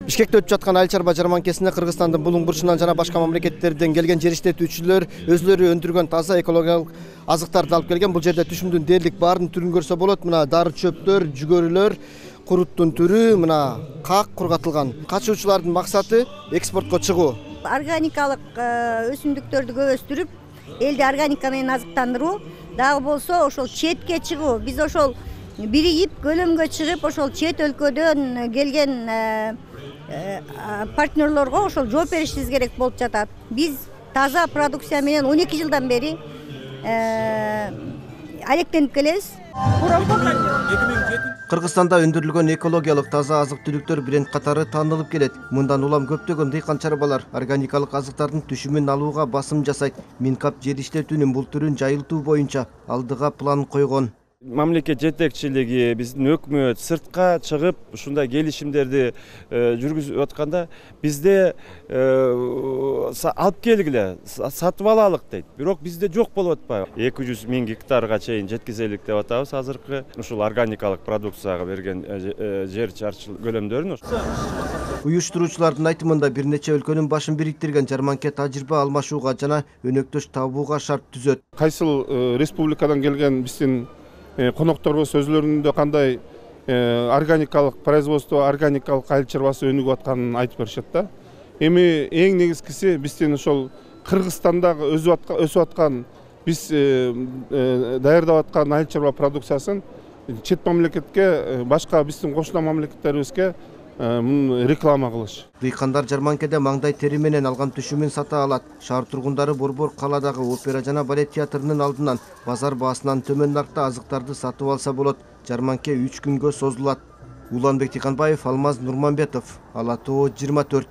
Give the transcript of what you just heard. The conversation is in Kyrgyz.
Бишкекте өтүп жаткан айыл чарба жарманкесине Кыргызстандын булуң бурчунан жана башка мамлекеттерден келген жер иштетүүчүлөр өзүлөрү өндүргөн таза экологиялык азыктарды алып келген. Бул жерде түшүмдүн дээрлик баарын түрүн көрсө болот. Мына дары чөптөр, жүгөрүлөр, куруттун түрү, мына как кургатылган. Качуучулардын максаты экспортко чыгуу. Органикалык өсүмдүктөрдү көп өстүрүп, элди органика менен азыктандыруу, дагы болсо ошол четке чыгуу. Биз ошол биригип, көлөмгө чыгып, ошол чет өлкөдөн келген партнерлорго ошол жооп беришибиз керек болуп жатат. Биз таза продукция менен 12 жылдан бери алектенип келебиз. Кыргызстанда өндүрүлгөн экологиялык таза азык-түлүктөр бренд катары таанылып келет. Мындан улам көптөгөн дыйкан чарбалар органикалык азыктардын түшүмүн алууга басым жасайт. Минкап жер иштетүүнүн бул түрүн жайылтуу боюнча алдыга план койгон. Мамлекет жетекчилиги, биздин өкмөт сыртка чыгып ушундай келишимдерди жүргүзүп атканда бизде алып келгиле, сатып алалык дейт. Бирок бизде жок болуп атпайбы? 200 000 гектарга чейин жеткизелик деп атабыз азыркы ушул органикалык продукцияга берген жер чарчы көлөмдөрүн. Уюштуруучулардын айтымында бир нече өлкөнүн башын бириктирген жарманке тажрыйба алмашууга жана өнөктөш табууга шарт түзөт. Кайсыл республикадан келген биздин конокторбуз өзлөрүндө кандай органикалык производство, органикалык айыл чарбасы өнүгүп атканын айтып беришет да. Эми эң негизгиси биздин ошол Кыргызстандагы өсүп аткан, биз даярдап аткан айыл чарба продукциясын чет мамлекетке, башка биздин кошуна мамлекеттерибизге реклама кылыш. Дыйкандар жарманкеде маңдай тери менен алган түшүмүн сата алат. Шаар тургундары Борбор калаадагы опера жана балет театрынын алдынан базар баасынан төмөн наркта азыктарды сатып алса болот. Жарманке 3 күнгө созулат. Уланбек Тиканбаев, Алмаз Нурманбетов, Ала Тоо 24.